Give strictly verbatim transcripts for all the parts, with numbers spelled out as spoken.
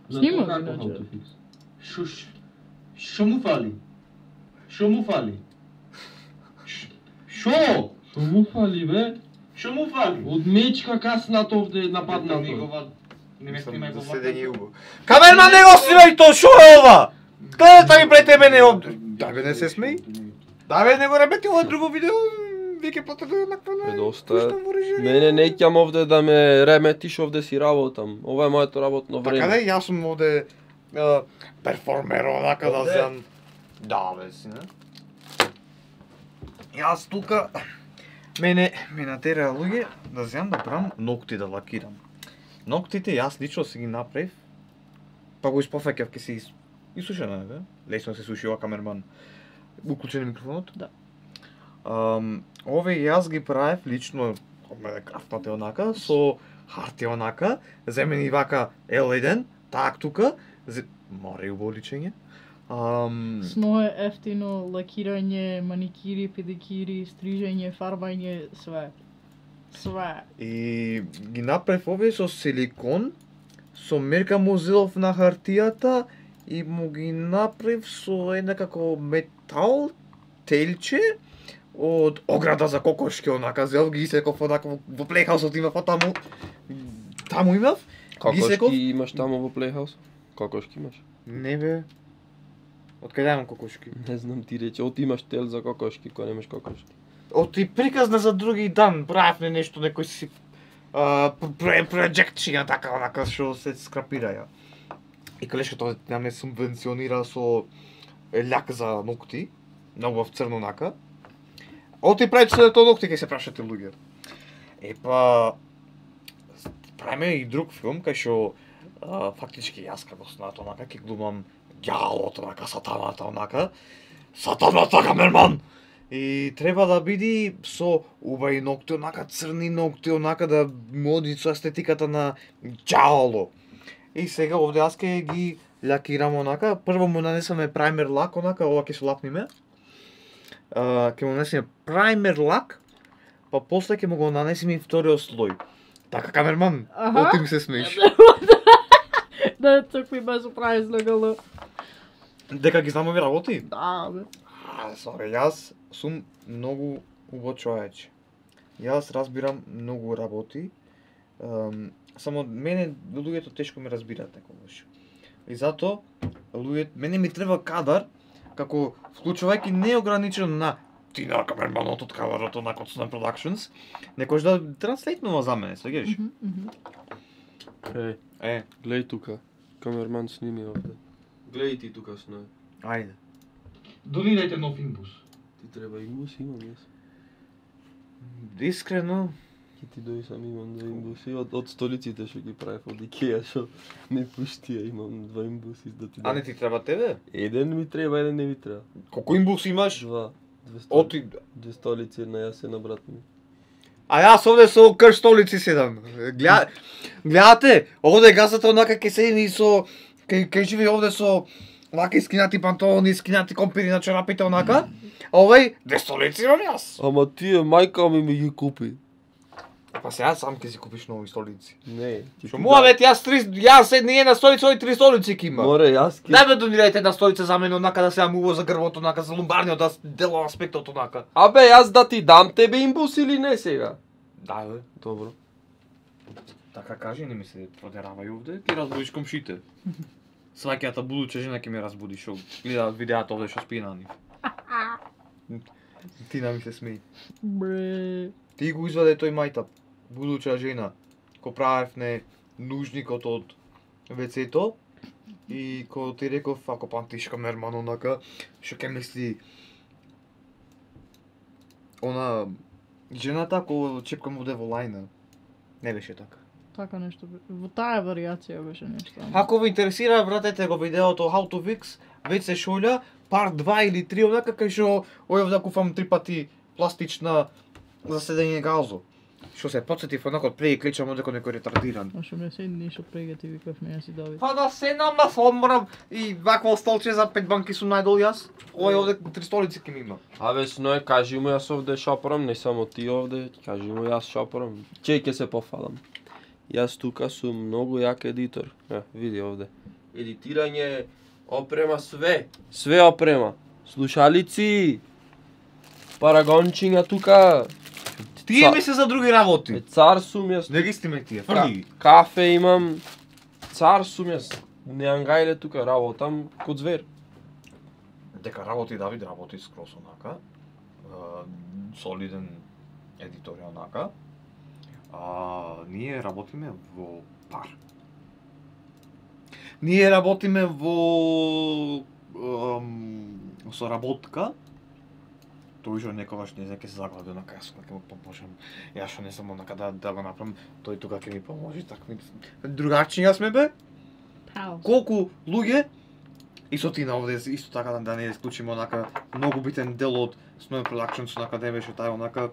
Снимам иначе. Шо шо му фали? Шо му фали? Шо? Шо му фали бе? Шо му фали? Од мечка каснат овде нападнато. Не ме снимај го седење убаво. Камерман не го снимај то, шо е ова? Гледата ми пред тебе не овде. Дај бе, не се смеј. Дај бе, не го ремети ова друго видео. Веќе плата да накрана. Е доста. Мене не ќам овде да ме реметиш, овде си работам. Ова е моето работно време. Така да, јас сум овде перформер, онака да зем. Да бе, си, не? Јас тука мене ме натера луѓе да земам да правам ногти да лакирам. Ноктите јас лично си ги направив, па го испофаќав ке се исушено е, бе? Лесно се суши ова камерман. Уклучен е микрофонот? Да. Um, ове јас ги правев лично, ме крафтате онака, со хартија онака, земени вака ел еден, так тука, зе... мора и убаво личење. Um, Сно е ефтино, лакирање, маникири, педикири, стрижење, фарбање, све. Све. И ги направив овие со силикон, со мерка му зелов на хартијата и му ги направив со една како метал телче од ограда за кокошки, онака зел ги секов онака во плейхаусот имав, таму таму имав. Кокошки имаш таму во плейхаус? Кокошки имаш? Не бе. Од каде имам кокошки? Не знам, ти рече, од имаш тел за кокошки, кога немаш кокошки. Од и приказна за други дан, правев не нешто, некој си проекција така, онака, што се скрапираја. И колешката ја ме субвенционира со љак за ногти, многу в црно онака. Од и прави се тоа ногти, кај се прашате луѓе. Е па, правиме и друг филм, кај што фактички јас како снат онака, ке глумам ѓаолот онака, сатаната онака, сатаната камерман! И треба да биде со убави ногти, онака црни ногти, онака да моди со естетиката на ѓаоло. И сега овде аз ке ги лакирам онака, прво му нанесаме праймер лак онака, ова ќе се лапниме. Uh, ке му нанесеме праймер лак, па после ке му го нанесеме и вториот слој. Така камерман, оти ми се смееш. Да, такви без прави излегало. Дека ги знам овие работи? Да, бе. А, сорі, јас сум многу убав човече. Јас разбирам многу работи. Um, само мене луѓето тешко ме разбираат некогаш. И затоа луѓето мене ми треба кадар како вклучувајќи неограничено на ти на камерманот од кадарот на Cotsman Productions, некојаш да транслейтнува за мене, свеѓаш? Mm -hmm. Е, Е, гледај тука. Камерман сними овде. Гледај ти тука сној. ајде. Донирајте нов имбус. Ти треба имбус, имам јас. Искрено, Ки ти дојди сам имам два имбуси од, од столиците што ги правев од Икеа, што не пуштија, имам два имбуси да ти а не ти треба тебе? Еден ми треба, еден не ми треба. Колку имбус имаш? Два. Две столици. Оти... Две столици, една јас, една брат ми. А јас овде со крш столици седам. Гледа... Гледате, овде газата онака ке седи и со... Ке, ке живи овде со... Вака искинати панталони, искинати компири на чорапите онака. А овај, две столици имам јас. Ама тие мајка ми ми ги купи. Па сега сам ке си купиш нови столици. Не. ти Што ти муа да- бе, јас три... Јас една една столица, овој три столици ки има. Море, јас ки... Дај бе донирајте една столица за мене онака да се амува за грбот онака, за лумбарниот да дело аспектот онака. Абе, јас да ти дам тебе имбус или не сега? Да бе. Добро. Така кажи, не ми се продеравај овде, ти разбудиш комшите. Сваќата будуча жена ќе ме разбуди, шо гледаат видеата овде што спие на нив. Ти на ми се смеј. Бре. Ти го изваде тој мајтап, будуча жена, ко правев не нужникот од вецето и ко ти реков, ако памтиш камерман онака, што ќе мисли она жената ко чепкам овде во лајна. Не беше така. Така нешто. Во таа варијација беше нешто. Ако ви интересира, вратете го видеото How to Fix, веќе се шолја, пар два или три онака кај што ојав да купам три пати пластична за седење газо. Што се потсетив онака од преди клечам одеко некој ретардиран. А што ме седни што прега ти викав ме си Давид. Па да се нама морам и вакво столче за пет банки сум најдол јас. Овој овде три столици ке ми има. Абе, сној, кажи му јас овде шопорам, не само ти овде, кажи му јас шопорам. Чеј ќе се пофалам. Јас тука сум многу јак едитор. Е, види овде. Едитирање, опрема, све. Све опрема. Слушалици. Парагончиња тука. Тие ми се за други работи. Е, цар сум јас. Не ги стиме тие, фрли ги. Кафе имам. Цар сум јас. Не ангајле тука, работам код звер. Дека работи Давид, работи скрос онака. Солиден едитор е онака. А, ние работиме во пар. Ние работиме во ам, соработка. Тој што некогаш не знам ќе се заглади онака, јас ќе му поможам. Јас што не сум онака да, да го направам, тој тука ќе ми поможи, така ми другачија сме бе. Пау. Колку луѓе и со ти на овде исто така да, да не исклучиме онака многу битен дел од Snowy Productions онака да беше тај онака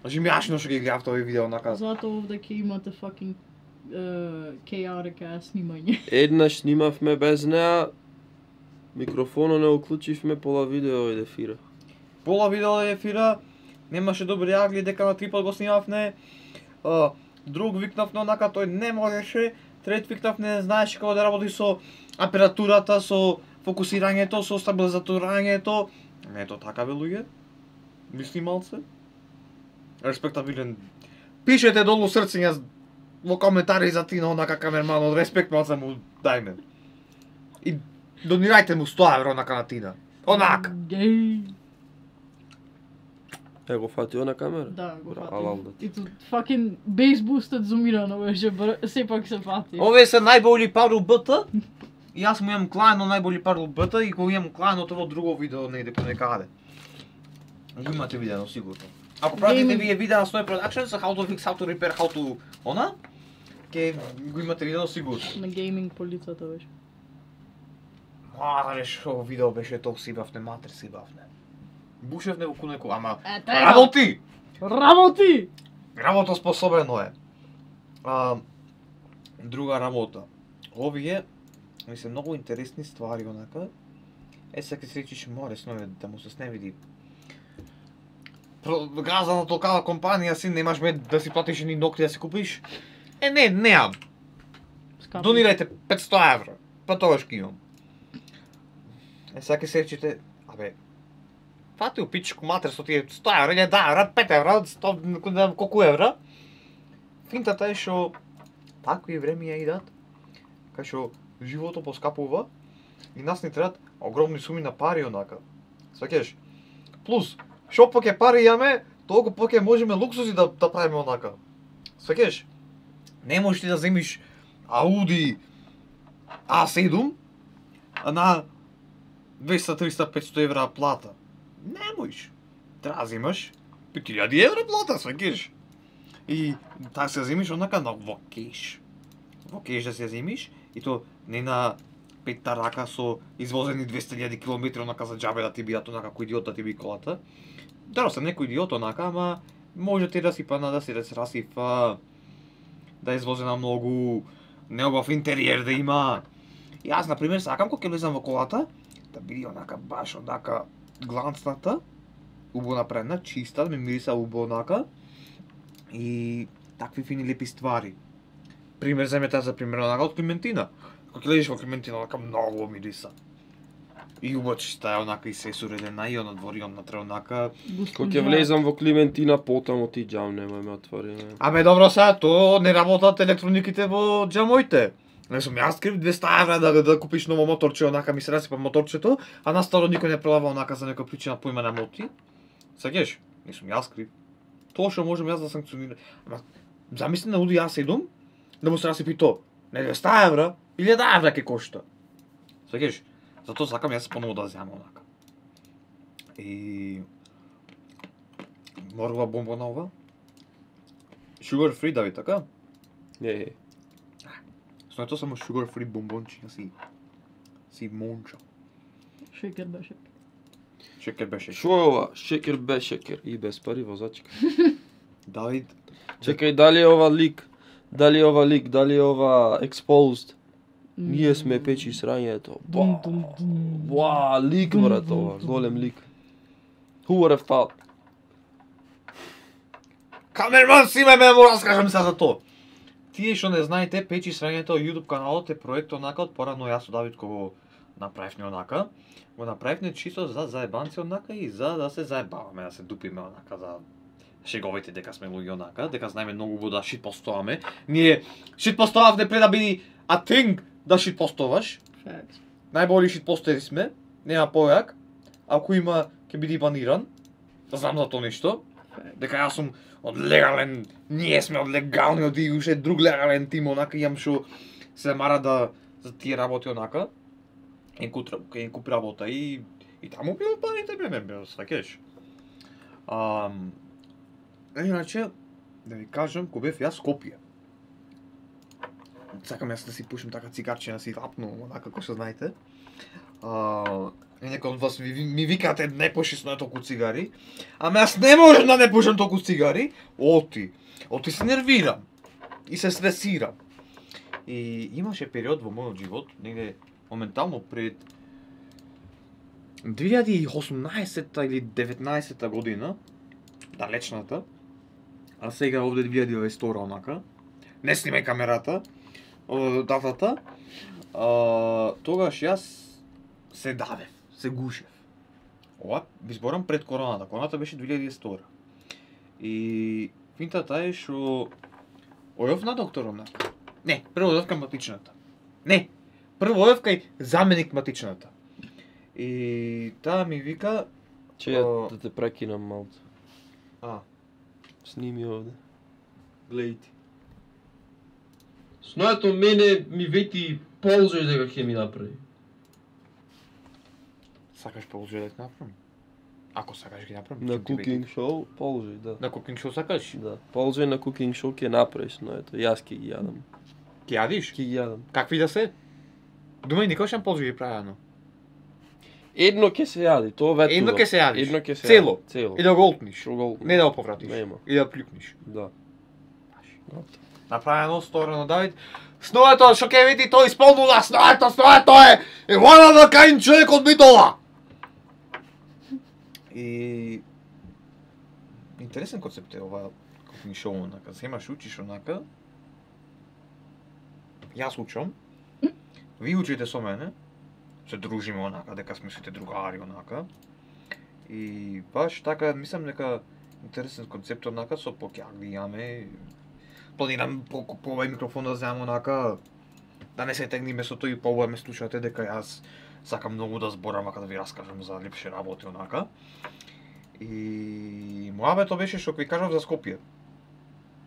жимјашно што ги играв тој видео онака. Затоа овде ќе имате fucking uh, chaotic ass снимање. Еднаш снимавме без неа. Микрофонот не уклучивме, пола видео иде фира. Пола видео ефира, немаше добри агли, дека на три пат го снимавме. А, друг викнавме онака, тој не можеше. Трет викнавме, знаеше како да работи со апаратурата, со фокусирањето, со стабилизаторањето. Не е то така бе луѓе. Ви снималце. Респектабилен. Пишете долу срцења во коментари за Тина онака камерман, од респект малце му дајме. И донирајте му сто евро онака на Тина. Онака. Геј. Е, го фатио на камера? Да, го Бра, фати. алал да ти. И тут fucking base boosted зумирано беше, бр- сепак се фати. Овие се најболи пари од БТ. И јас му имам клајно најболи пари од БТ и го имам клајно тоа друго видео негде по некаде. Го имате видено сигурно. Ако пратите Gaming. вие видеа на Snowy Productions, how to fix, how to repair, how to она, ке го имате видено сигурно. На гейминг полицата беше. Маре шо видео беше толку си бавне, матер си бавне. Бушевне во кунеко, ама Е, треба. работи! Работи! Работа способено е. А, друга работа. Овие ми се многу интересни ствари онака. Е сега се речиш море снове да му се сневиди. Газа на толкава компанија си немаш ме да си платиш ни ногти да си купиш. Е не, неам. Скапи. Донирајте петсто евра. Па тогаш ќе имам. Е сега се речите, абе, фати у пичку матер со тие сто евра, или да евра, пет евра, сто, колку евра. Финтата е што такви времења идат, кај што животот поскапува и нас ни требат огромни суми на пари онака. Сваќаш? Плюс, што поќе пари имаме, толку поќе можеме луксузи да, да правиме онака. Сваќаш? Не можеш ти да земиш Ауди А седум на двеста, триста, петсто евра плата. Не можеш. Треба да земаш пет илјади евра плата, сваќаш? И така се земиш онака на во кеш. Во кеш да се земиш и то не на петта рака со извозени двеста илјади километри онака за џабе да ти бијат онака кој идиот да ти би колата. Даро сам некој идиот онака, ама може ти да си пана да си да се расифа, да извозе на многу необав интериер да има. И аз на пример сакам кога ќе влезам во колата да биде онака баш онака гланцната, убаво направена, чиста, да ми мириса убаво онака и такви фини лепи ствари. Пример земете за пример онака од Клементина. Кога ќе лезеш во Клементина онака многу мириса. И убаво чиста е онака и се суредена и она двори онатре онака. Кога ќе влезам во Клементина, потаму ти џам немој ме отвори. Не. Абе добро сега, то не работат електрониките во џамоите. Не сум јас крив двеста евра да, да купиш ново моторче, онака ми се расипа моторчето, а на старо никој не прелава онака за некоја причина поима на моти. Саѓаш? Не сум јас крив. Тоа што можам јас да санкционирам. Ама замисли на Ауди А седум да му се расипи то. Не двеста евра, илјада евра ќе кошта. Саѓаш? Затоа сакам јас поново да земам онака. И морова бомбона ова. Sugar free Давид, така? Не. Со тоа само sugar free бомбончиња си си монча. Шекер беше. Шекер беше. Шо е ова? Шекер без шекер и без пари возачка. Давид, Чекај, дали е ова лик? Дали е ова лик? Дали е ова exposed? Ние сме печи срањето. Дум, дум, дум. Ба, лик брат ова, голем лик. Who would have thought? камерман си ме ме му раскажам сега за тоа. Тие што не знаете, Печи срањето YouTube каналот е проект онака од порано јас со Давид кога го направивме онака. Го направивме чисто за заебанци онака и за да се заебаваме, да се дупиме онака, за шеговите дека сме луѓе онака, дека знаеме многу убаво да шитпостуваме. Ние шитпостувавме пред да биде a thing да шитпостуваш. Facts. Најболи шитпостери сме, нема појак. Ако има, ќе биде баниран. Да знам за тоа нешто. Дека јас сум од легален, ние сме од легални, од и уште друг легален тим онака, имам што се мара да за тие работи онака. Ен куп, ен куп работа и и таму било парите бе, не бе, сваќаш. Ам Иначе, да ви кажам, кога бев јас Скопје. Сакам јас да си пушам така цигарче, да си лапну, онака како што знаете. А, и некој од вас ми, ми викате не пушиш на толку цигари. Ама јас не можам да не пушам толку цигари. Оти, оти се нервирам. И се стресирам. И имаше период во мојот живот, негде моментално пред две илјади и осумнаесетта или деветнаесетта година, далечната, а сега овде две илјади и дваесет втора онака, не снимај камерата, датата, а, тогаш јас се давев, се гушев. Ова би зборам пред короната, короната беше две илјади и дваесет втора. И финтата е што ојов на доктор онака. Не, прво одев кај матичната. Не, прво одев кај заменик матичната. И таа ми вика... Че ја да те прекинам малку. А, Сними овде. Гледај ти. Снојато мене ми вети ползој дека ќе ми направи. сакаш ползој да ти направам? Ако сакаш ги направам. На ќе ти кукинг вети. шоу, полжај, да. На кукинг шоу сакаш? Да. Полжај на кукинг шоу ќе направиш, но ето, јас ќе ги јадам. Ќе јадиш? Ќе ги јадам. Какви да се? Дума и никош нем ползој ги правено. Едно ќе се јади, тоа ветува. Едно ќе се јадиш. Едно ќе се Цело? јади. Цело. И да го олтниш. Шо го Не да го повратиш. Нема. И да плюкниш. Да. Направено, сторено, Давид. Сноето, што ќе види, тој исполнува, сноето, сноето е! Е one of a kind човек од Битола! И... Интересен концепт е ова кухни шоу, онака. Земаш, учиш, онака. Јас учам. Ви учите со мене. Се дружиме, онака, дека сме сите другари, онака. И баш така, мислам дека интересен концепт, онака, со покјак да имаме. Планирам по, по овај микрофон да земам онака, да не се тегниме со тој, по ова ме слушате дека јас сакам многу да зборам, ака да ви раскажам за лепше работи онака. И мојабето беше што ви кажав за Скопје.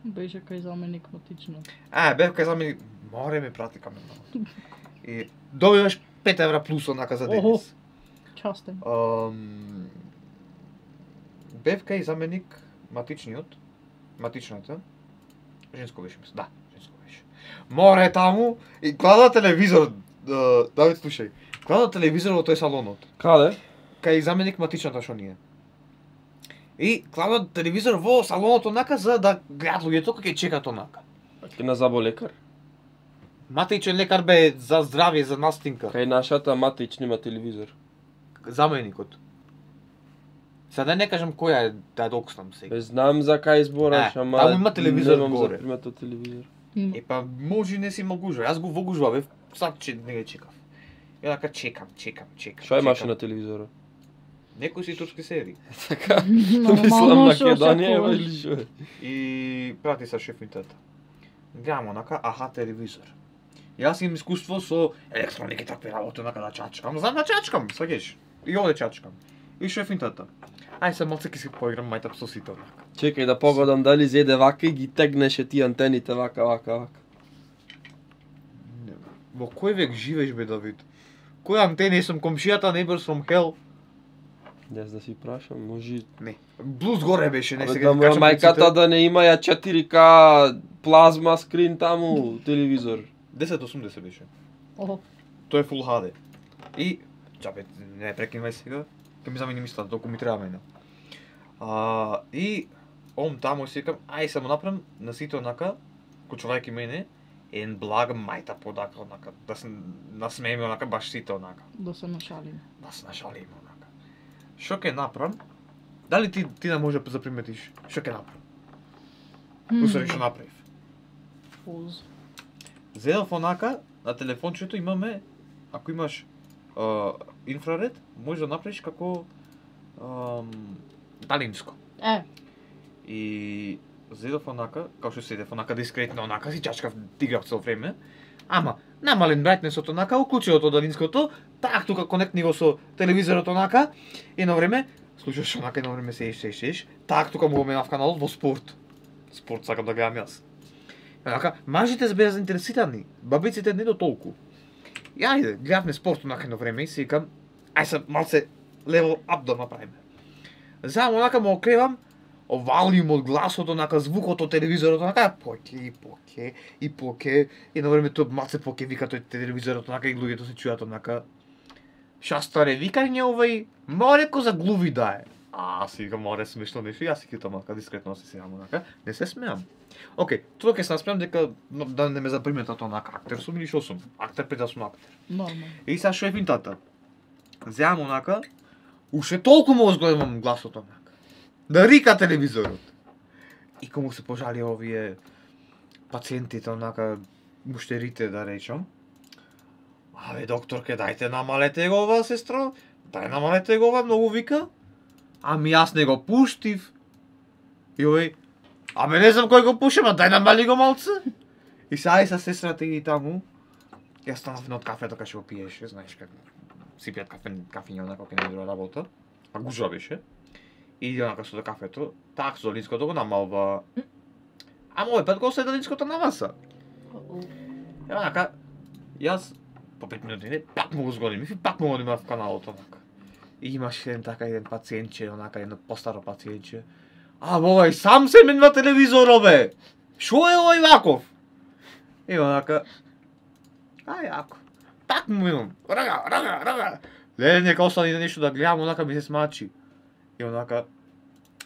Беше кај заменик матично. Е, бев кај замени, море ме прати камерата. И добиваш пет евра плюс онака за Охо. денес. Частен. Ам, бев кај заменик матичниот, матичната. Женско беше, мислам. Да, женско беше. Море таму и гледа телевизор. Да, Давид, слушај. Гледа телевизор во тој салонот. Каде? Кај заменик матичната што ние. И гледа телевизор во салонот онака за да гледат луѓето кога ќе чекат онака. Ќе на заболекар. Матичен лекар бе за здравје, за настинка. Кај нашата матич нема телевизор. Заменикот. Сега да не кажам која е да докснам сега. Бе, знам за кај збораш, Е, ама таму има телевизор немам горе. запримето телевизор. Има. Е па може не си имал гужва. Јас го во гужва бев, сад че не го чекав. И така чекам, чекам, чекам. Што имаше чекам. на телевизорот? Некои си турски серии. Така, Нормално, мислам шо Македонија секогаш. или што е? И прати са шефинтата. Гледам онака, аха, телевизор. Јас имам искуство со електроники такви работи, онака да чачкам. Знам да чачкам, сваќаш. И овде чачкам. И шефинтата. Ај се малце ќе си поиграм мајтап со сите онака. Чекај да погодам дали зеде вака и ги тегнеше ти антените вака, вака, вака. Во кој век живееш бе, Давид? Кој антени сум комшијата neighbors from hell? Јас да си прашам, може... Не. Блуз горе беше, не Абе, сега да ти кажам моја мајката пред сите. да не има ја четири ка плазма скрин таму, телевизор. десет осумдесет беше. Охо. Тој е Full H D. И, чабе, не прекинвај сега, ќе ми замени мислата, толку ми треба мене. А, и, ом таму си викам, ај само направам на сите онака, кучувајќи мене, ен благ мајта подака онака, да се насмееме онака баш сите онака, Да се нашалиме. да се нашалиме онака. Што ќе направам? Дали ти ти да може да заприметиш што ќе направам? Усвари што направив. Поз. Зедов онака, на телефончето имаме, ако имаш а, инфраред, можеш да направиш како ам, далинско. Е, И зедов онака, као што седев онака дискретно онака, си чачкав играв цело време. Ама, намален брайтнесот онака, уклучил тоа далинското, так тука конектни го со телевизорот онака, и на време, слушаш онака, и на време сеиш, сеиш, сеиш, так тука му го менав каналот во спорт. Спорт сакам да гледам јас. И онака, мажите беа заинтересирани, бабиците не до толку. И ајде, гледавме спорт онака едно време и си викам, ај се малце level up да направиме. Заедно онака му окревам, овалиум од гласот, онака звукот од телевизорот, онака поке и поке и поке и на време тоа малце поке вика тој телевизорот, онака и луѓето се чујат онака. Ша старе викање овај, мореко за глуви да е. А, си викам, море смешно нешто, јас си китам онака дискретно се сеам онака, не се смеам. Океј, тоа ќе се насмеам дека но, да не ме заприметат онака актер сум или шо сум, актер пред да сум актер. нормално. И сега шо е финтата? Земам онака, уште толку му зголемам гласот онака. Да рика телевизорот. И кому се пожали овие пациентите онака, муштерите да речам. Абе докторке, дајте намалете го ова, сестро. Дај намалете го ова, многу вика. Ами јас не го пуштив. И овој, абе не знам кој го пуша, ма дај намали го малце. И сега и са сестрата и таму. Јас станав од кафето кај што го пиеше, знаеш како си пијат кафе, кафиња онака кај не работа. А гужва беше. И иди онака со до кафето, так со долинското го намалва. Ама овој пат го остави долинското на маса. И онака, јас по пет минути не, пак му го зголемив и пак му го немав каналот онака. И имаше еден така еден пациентче, онака едно постаро пациентче. А овој сам се менува телевизорот бе. Шо е овој ваков? И онака, а јако. Пак му минувам. Рага, рага, рага. Леле, нека остани на нешто да гледам, онака ми се смачи. И онака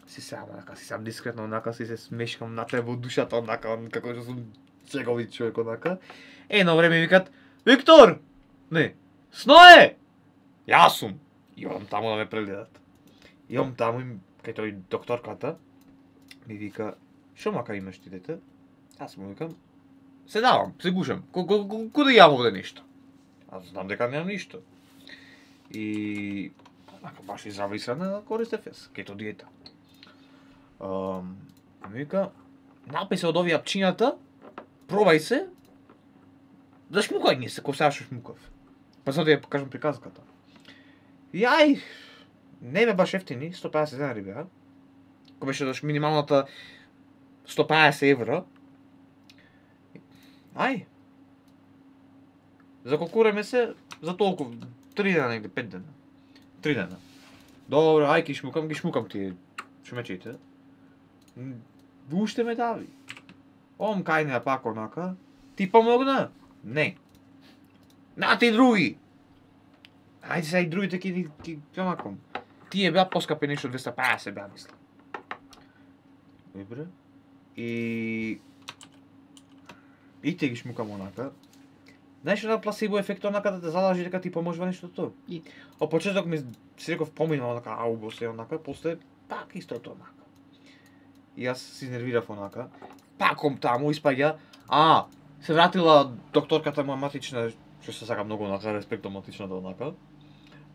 си сам, онака си сам дискретно, онака си се смешкам на тебе во душата, онака, како што сум чеговит човек, онака. Е, на време викат, Виктор! Не, Сное! Јас сум. И одам таму да ме прегледат. И одам таму, кај тој докторката, ми вика, шо мака имаш ти дете? Јас му викам, се давам, се гушам, куде јам овде нешто? Аз знам дека немам ништо. И онака баш изрависана користев јас, кето диета. Um, ми вика, напи се од овие апчињата, пробај се, да шмукај не се, ко сега шо шмукав. Па за да ја покажам приказката. И ај, не бе баш ефтини, сто педесет денари беа. Ко беше дош минималната сто педесет евра. Ај, заколкуреме се за толку, три дена или пет дена. Три дена. Добро, ај ки шмукам, ги шмукам тие шумечите. Уште ме дави. Ом кај не пак онака. Ти помогна? Не. На ти други. Ајде сега и другите ки ки онаком. Тие беа поскапи нешто двеста педесет беа мислам. Добре. И и те ги шмукам онака. Знаеш на пласибо ефект онака да те задажи дека ти поможува нештото? И О почеток ми си реков помина онака, ау го се онака, после пак истото онака. И јас се нервирав онака. Паком таму испаѓа, а, се вратила докторката моја матична, што се сака многу онака, респект до матичната онака.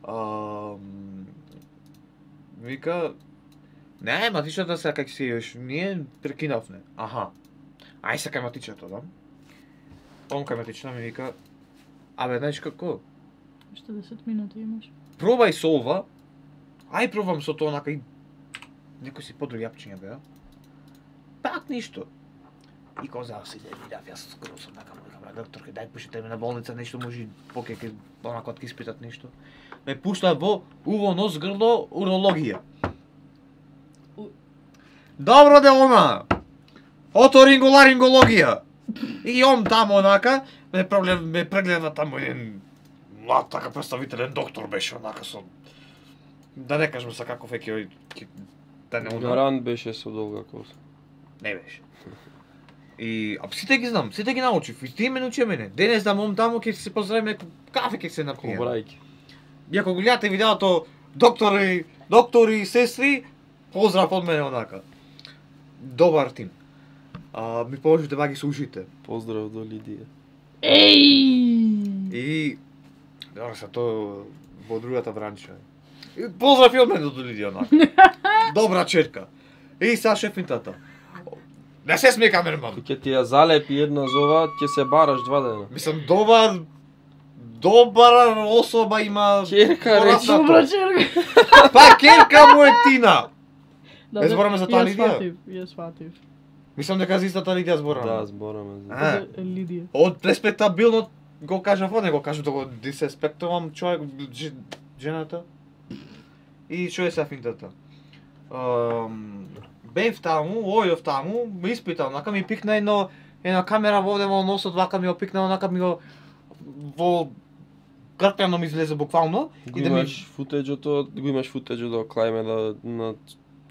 А, вика, не, матичната сега как си још, ние прекинавме. Аха. Ај се кај матичната, да? Он кај матична ми вика, абе, знаеш како? уште десет минути имаш. Пробај со ова, ај пробам со тоа онака и некој си подруги јапчиња беа. Пак ништо. И кога за се нервирав, јас скоро сум така му викам, докторке, дај пуштите ме на болница, нешто може поке ке онака од ке испитат нешто. Ме пушта во уво, нос, грло, урологија. У- Добро делона! Оторинголарингологија. И он таму онака, ме прегледа, ме прегледа таму еден млад така представителен доктор беше онака со да не кажам са каков е ќе ќе да не уна. Гарант беше со долга коса. Не беше. И а сите ги знам, сите ги научив. И ти ме научи мене. Денес да мом таму ќе се поздравиме, кафе ќе се напиеме. Побрајки. И ако го гледате видеото доктори, доктори и сестри, поздрав од мене онака. Добар тим. а, ми положите ваги со ушите. Поздрав до Лидија. Еј! И добро се тоа во другата бранча. И поздрав и од мене до Лидија онака. Добра черка. И са шефинтата. Не се смее камерман. Ќе ти ја залепи една зова, ќе се бараш два дена. Мислам добар добра особа има. Черка, речи. пораснато. Добра черка. Па керка му е Тина. Да, Не збораме за таа ја Лидија? сватив, Ја сватив. Мислам дека за истата Лидија збораме. Да, збораме за. А. За Лидија. Од респектабилно го кажав, не го кажав да го дисреспектувам човек, дж- жената. И што е са финтата? Um, бев таму, ојов таму, ме испитал, онака ми пикна едно, една камера воде во носот, вака ми го пикна, онака ми го во гртено ми излезе буквално. Го И да ми... имаш футеџото, го имаш футеџо да клајме да на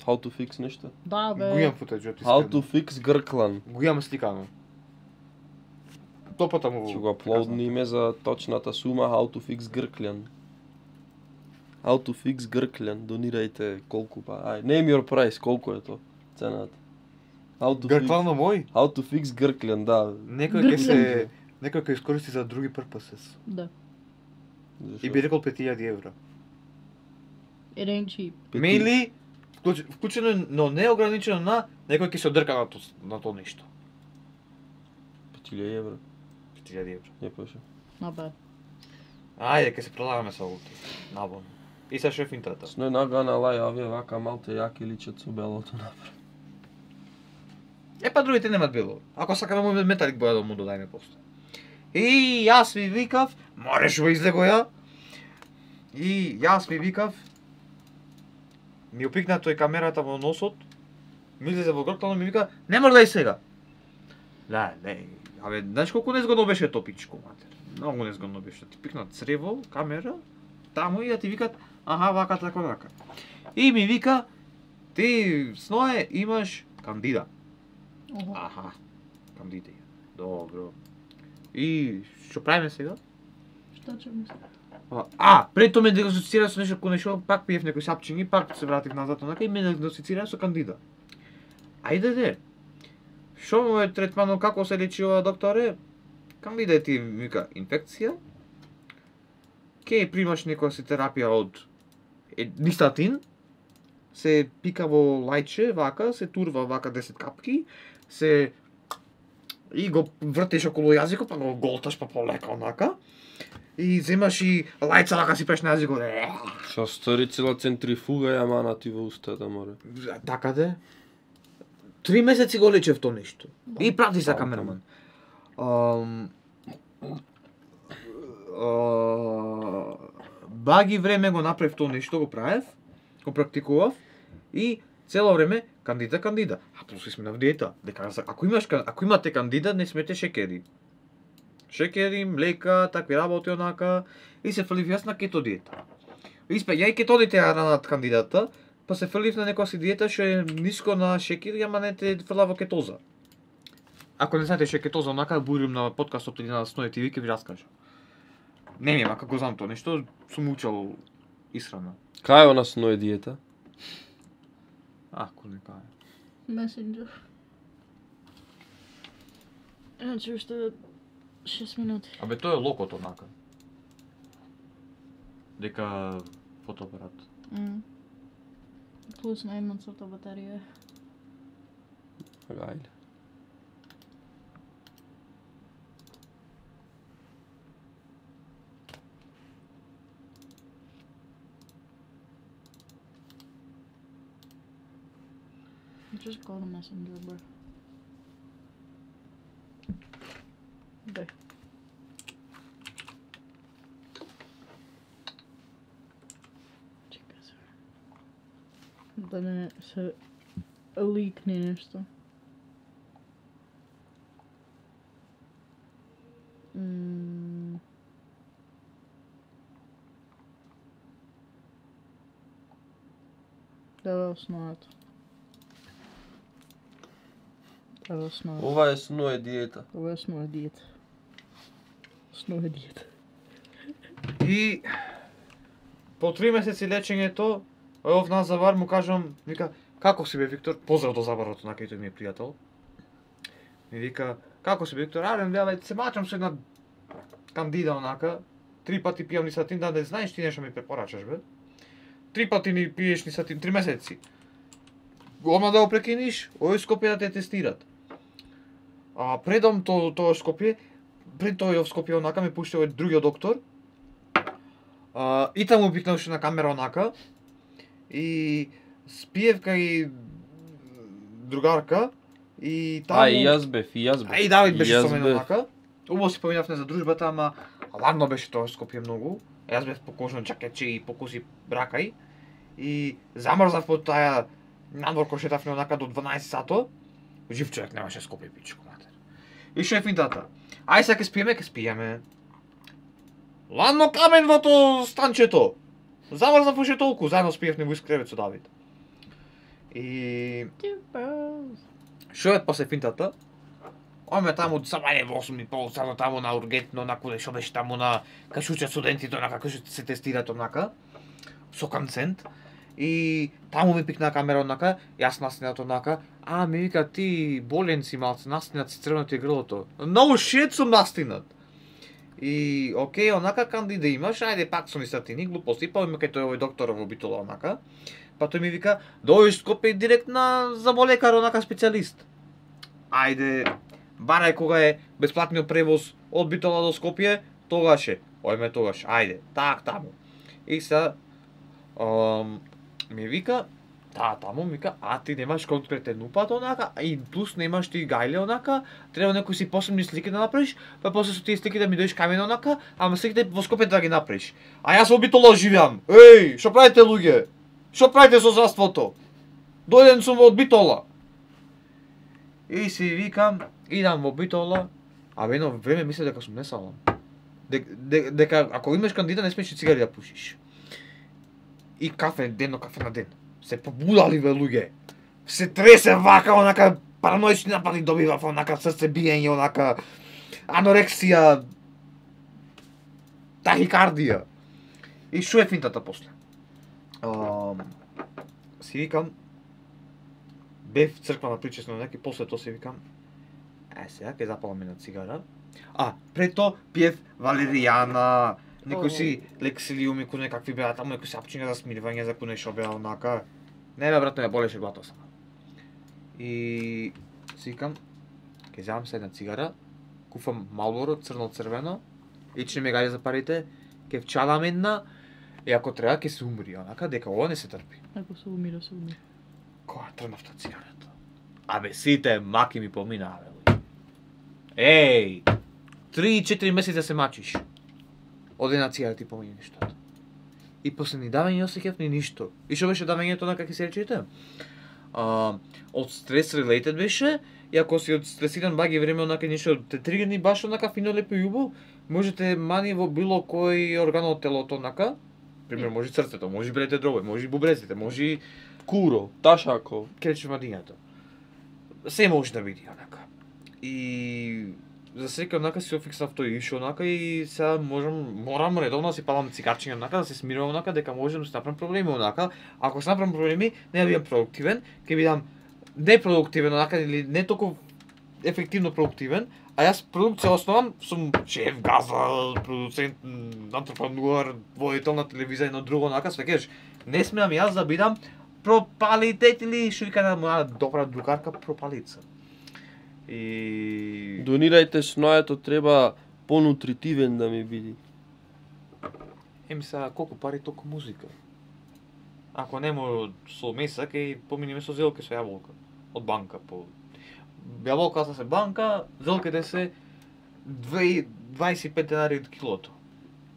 how to fix нешто. Да, бе. Го имам футеџот, How to fix Грклан. Го имам сликано. Топата му... Ќе го аплодниме за точната сума How to fix Грклан. How to fix Грклан. Донирајте колку па. Ај, name your price, колку е то цената. How to Грклано fix мој? How to fix Грклан, да. Некој ќе се... Некој ќе искористи за други purposes. Да. Зашо? И би рекол пет илјади евра. It ain't cheap. Пети- Мейли, вклуч- вклучено, но не ограничено на некој ќе се одрка на то, на то нешто. пет илјади евра. пет илјади евра. Не паше. Not bad. Ајде, ќе се продаваме со лути. Набон. И са шефинтата. Сној нагана лај авија вака малте јаки личат со белото напред. Е, па другите немат било. Ако сака да му металик боја да му додајме после. И јас ми викав, мореш во излего ја. И јас ми викав, ми опикна тој камерата во носот, ми излезе во гртано, ми вика, не мрдај сега. Да, не, абе, знаеш колку незгодно беше топичко, матер. Многу незгодно беше. Ти пикнат црево, камера, таму и да ти викат, аха, вака, така, вака. И ми вика, ти, Сное, имаш кандида. Ого. Аха, кандида. Добро. И што правиме сега? Што ќе мислам? А, А, пред тоа ме диагностицира со нешто кој нешто, пак пиев некои сапчињи, пак се вратив назад онака и ме диагностицира со кандида. Ајде де. Што му е третманот, како се лечи ова докторе? Кандида ти вика инфекција. Ке примаш некоја си терапија од е, нистатин. Се пика во лајче, вака, се турва вака десет капки, се и го вртеш околу јазикот, па го голташ па полека онака. И земаш и лајца вака си пеш на јазикот. Што стори цела центрифуга ја мана ти во устата, море. Така де. Три месеци го лечев то нешто. И прати за Пам, камераман. Ам... а, Баги време го направив то нешто, го правев, го практикував и цело време кандида кандида. А после сме на диета. Дека ако имаш ако имате кандида, не смете шекери. Шекери, млека, такви работи онака и се фрлив јас на кето диета. Испе, ја и кетодите ја ранат кандидата, па се фрлив на некоја си диета што е ниско на шекер, ама не те фрла во кетоза. Ако не знаете што е кетоза, онака бурим на подкастот или на Сное ти ви ќе ви раскажа. Не ми, како знам тоа нешто, сум учел исхрана. Кај е она Сное диета? Ако не кај. Messenger. Значи уште шест минути. Абе тоа е локот онака. Дека фотоапарат. Mm. Плюс на една црта батерија. Ајде. Just go to Messenger, bro. Дай. Чекай се. Да не се ликне нешто. М. Да, основата. Ова е основа. Ова е Сное диета. Ова е основа диета. Основа диета. И по три месеци лечењето, ов Назавар му кажам, вика, како си бе Виктор? Поздрав до Забарот, на кај тој ми е пријател. Ми вика, како си Виктор? Аре, бе, се мачам со една кандида онака, три пати пијам нисатин, да не знаеш ти нешто ми препорачаш, бе. Три пати ни пиеш нисатин, три месеци. Ома да го прекиниш, ој Скопје да те тестират. А предом то тоа Скопје, пред тој в Скопје онака ме пушти овој другиот доктор. А, и таму пикнавше на камера онака. И спиев кај другарка и таму... А, и јас бев, и јас бев. А и Давид беше Јас со мене бев. онака. Убаво си поминавме за дружбата, ама ладно беше тоа Скопје многу. Јас бев покожно чакече и покуси бракај. И замрзав под таа надвор кој шетавме онака до дванаесет сато. Жив човек немаше Скопје пичко матер. И што е финтата? Ај сега ќе спиеме, ќе спиеме. Ладно камен во то станчето. Замрзнав уште толку, заедно спиевме во искревет со Давид. И што е после финтата? Оме таму самање во осум и пол сато таму на ургентно, на куде што беше таму на кај шучат студентите, онака кај што се тестират онака со концент. И таму ми пикна камера онака, јас наснинат онака, а ми вика ти болен си малце, наснинат си црвено ти е грлото. No shit сум наснинат. И окей, онака кандида имаш, ајде пак со нисатини, глупости, па има кај тој овој доктор во Битола онака. Па тој ми вика, дојдеш Скопје директ на заболекар онака специјалист. Ајде, барај кога е бесплатниот превоз од Битола до Скопје, тогаш е. Ојме тогаш, ајде, так таму. И сега ам, ми вика, да, таму ми вика, а ти немаш конкретен упат онака, и плюс немаш ти гајле онака, треба некои си посебни слики да направиш, па после со тие слики да ми дојдеш кај мене онака, ама сликите во Скопје да ги направиш. А јас во Битола живеам. Еј, што правите луѓе? Што правите со здравството? Дојден сум од Битола. И си викам, идам во Битола, а во едно време мислев дека сум несалам. Дека, дека ако имаш кандида не смееш цигари да пушиш. И кафе денно кафе на ден. Се побудали бе луѓе. Се тресе вака, онака параноични напади добивав, онака срце биење, онака анорексија, тахикардија. И што е финтата после? Um, си викам, бев црква на причесно неки, после тоа си викам, е сега ќе запалам една цигара. А, пред тоа пиев валеријана, некои си лексилиуми, кој некакви беа таму, некои си апчиња за смирување, за кој нешто беа онака. Не бе, брат, не болеше главата сама. И си викам, ќе земам се една цигара, куфам Малборо, црно-црвено, и че не ме гаѓа за парите, ќе вчалам една, и ако треба ќе се умри, онака, дека ова не се трпи. Ако се умира, се умира. Кога трнав та цигарата? Абе, сите маки ми поминаа, бе. Еј, три-четири месеца се мачиш. Од една цигара ти помине нештото. И после ни давање осеќав ни ништо. И што беше давањето на како се речете? А, од стрес related беше, и ако си од стресиран баги време онака нешто те тригерни баш онака фино лепо и убаво, можете мани во било кој орган од телото онака. Пример, може срцето, може белите дробови, може бубрезите, може Куро, ташако. кречмадињата. Се може да види онака. И за секој онака си офиксав тој ишо онака и сега можам морам редовно да си палам цигарчиња онака да се смирувам онака дека можам да си направам проблеми онака. Ако се направам проблеми, не бидам продуктивен, ќе бидам непродуктивен онака или не толку ефективно продуктивен, а јас продукција основам, сум шеф, газа, продуцент, антрепренуар, водител на телевизија и на друго онака, све кажеш, не смеам јас да бидам пропалитет или што вика на моја добра другарка пропалица. И Донирајте снојето, треба понутритивен да ми биде. еми сега колку пари толку музика. Ако нема со меса, ќе поминеме со зелке со јаболка од банка по јаболката се банка, зелките се дваесет и пет денари од килото.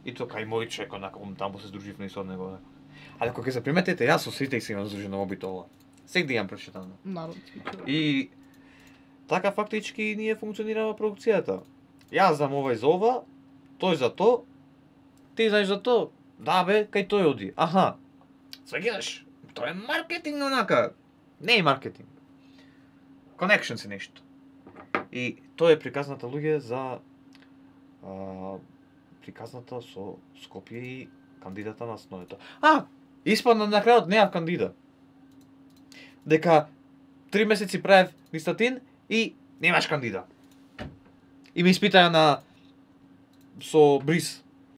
И тоа кај мој човек онака таму се здруживме и со него. А ако ќе се приметите, јас со сите се имам здружено во Битола. Секој ден прошетано. Народски човек. И така фактички ние функционирава продукцијата. Јас знам овој за ова, тој за то, ти знаеш за то, да бе, кај тој оди. Аха, свегаш, тоа е маркетинг онака. Не е маркетинг. Connection се нешто. И тоа е приказната луѓе за а, приказната со Скопје и кандидата на сноето. А, испадна на крајот неав кандидат. Дека три месеци правев нистатин и Немаш кандида. И ме испитаја на со бриз.